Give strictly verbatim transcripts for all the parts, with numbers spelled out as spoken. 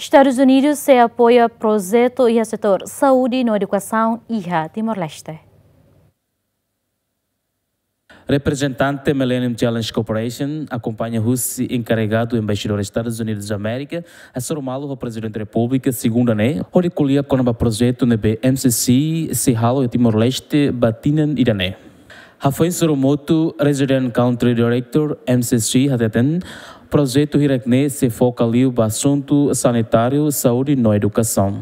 Estadus Unidus sei apoia projetu iha setór saúde no edukasaun iha Timor-Leste. Reprezentante Millennium Challenge Corporation akompaña husi enkarregadu Embaixadór Estadus Unidus Amérika, hasoru malu ho Prezidente Repúblika segunda ne'e, hodi ko'alia kona-ba projetu ne'ebé M C C sei halo iha Timor-Leste ba tinan ida-ne'e. Hafoin Soromoto, Resident Country Director M C C hateten, projetu hirak-ne'e sei foka liu ba asuntu sanitáriu, saúde no edukasaun.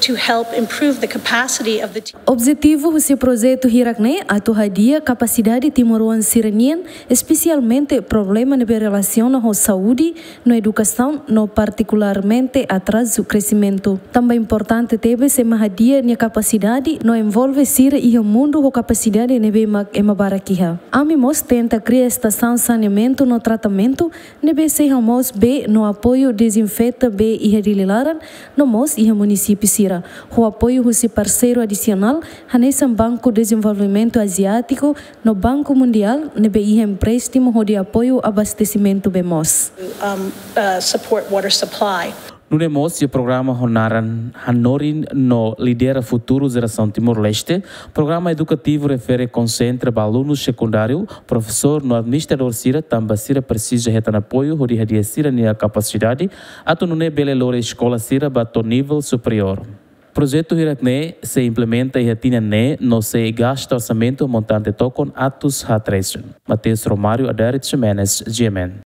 To help improve the capacity of the team. Objetivu husi projetu hirak-ne'e atu hadi'a kapasidade timoroan sira-nian, espesialmente problema ne'ebé relasiona ho saúde no edukasaun no partikularmente atrazu kresimentu. Tanba importante tebes ema hadi'a nia kapasidade no envolve sira iha mundu ho kapasidade ne'ebé mak ema barak iha. Ami mós tenta kria estasaun saneamentu no tratamentu ne'ebé sei hamoos bee no apoiu dezinfeta bee iha Dili laran no mós iha munisípiu sira, ho apoiu husi parseiru adisionál hanesan Banku Dezenvolvimentu Aziátiku no Banku Mundiál ne'ebé iha empréstimu hodi apoiu abastesimentu bee moos. Um, uh, support water supply. Nune'e mós iha programa ho naran Hanorin no Lidera Futuru Jerasaun Timor-Leste, programa edukativu refere konsentra ba alunu sekundáriu, profesór no administradór sira tanba sira presiza hetan apoiu hodi hadi'a sira-nia kapasidade atu nune'e bele lori eskola sira ba to'o nivel superiór. Projetu hirak-ne'e sei implementa iha tinan ne'e no sei gasta orsamentu montante tokon atus haat resin. Mateus Romário, Adair Ximenes, G M N.